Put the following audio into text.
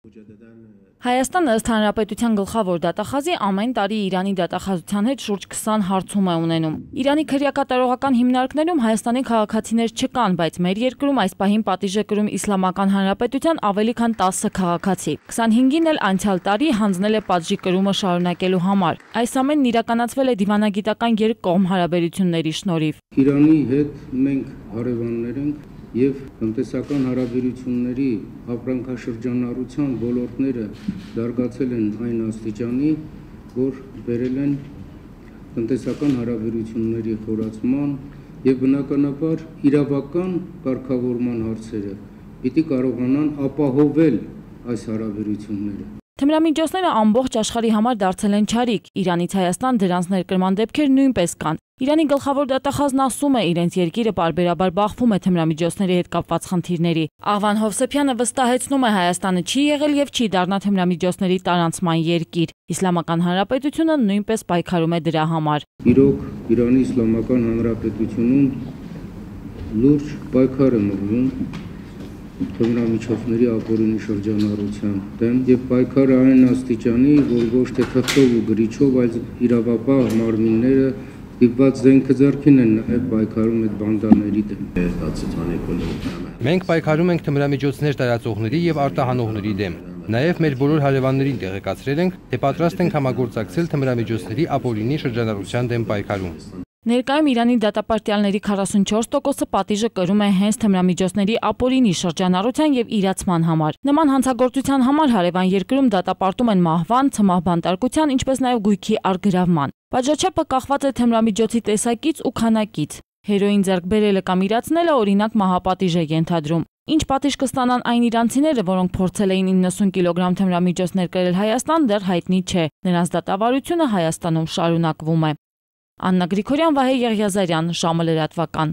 Հայաստանը ըստ Հանրապետության գլխավոր դատախազի ամեն տարի Իրանի դատախազության հետ շուրջ 20 հարցում է ունենում։ Իրանի քրեակատարողական հիմնարկներում Հայաստանի քաղաքացիներ չկան, բայց մեր երկրում այս պահին պատիժ է կրում Իսլամական Հանրապետության ավելի քան 10 քաղաքացի։ 25-ին էլ անցյալ տարի հանձնել է պատժի կրումը շարունակելու համար։ Այս ամենն իրականացվել է դիվանագիտական երկկողմ հարաբերությունների շնորհիվ։ Իրանի հետ մենք հարևաններ ենք և տնտեսական հարաբերությունների ապրանքաշրջանառության ոլորտները զարգացել են այն աստիճանի, որ բերել են տնտեսական հարաբերությունների խորացման և բնականաբար իրավական կարգավորման հարցերը պիտի կարողանան ապահովել այս հարաբերությունները։ Թմրամիջոցները ամբողջ աշխարհի համար դարձել են չարիք, Իրանից Հայաստան դրանց ներկրման դեպքեր նույնպես կան։ Իրանի գլխավոր դատախազն ասում է, իրենց երկիրը պարբերաբար բախվում է թմրամիջոցների հետ կապված խնդիրների։ Աղվան Հովսեփյանը վստահեցնում է, Հայաստանը չի եղել և չի դառնա թմրամիջոցների տարանցման երկիր։ Իսլամական Հանրապետությունը նույնպես պայքարում է դրա համար։ Իրոք, Իրանի Իսլամական Հանրապետությունում լուրջ պայքար է մղվում թմրամիջոցների ապօրինի շրջանառության դեմ և պայքարը այն աստիճանի, որ ոչ թե թղթով ու գրիչով, այլ իրավապահ մարմինները դիպված զենքը ձեռքին են պայքարում այդ բանդաների դեմ։ Մենք պայքարում ենք թմրամիջոցներ տարածողների և արտահանողների դեմ։ Նաև մեր բոլոր հարևաններին տեղեկացրել ենք, թե պատրաստ ենք համագործակցել թմրամիջոցների ապօրինի շրջանառության դեմ պայքարում։ Ներկայում Իրանի դատապարտյալների 44%-ը պատիժը կրում է հենց թմրամիջոցների ապօրինի շրջանառության և իրացման համար։ Նման հանցագործության համար հարևան երկրում դատապարտում են մահվան, ցմահ բանտարկության, ինչպես նաև գույքի առգրավման։ Պատժաչափը կախված է թմրամիջոցի տեսակից ու քանակից։ Հերոին ձեռք բերելը կամ իրացնելը օրինակ մահապատիժ է ենթադրում։ Ինչ պատիժ կստանան այն իրանցիները, որոնք փորձել էին 90 կիլոգրամ թմրամիջոց ներկրել Հայաստան, դեռ հայտնի չէ։ Նրանց դատավարությունը Հայաստանում շարունակվում է։ Աննա Գրիգորյան, Վահե Եղիազարյան, ժամը լրատվական։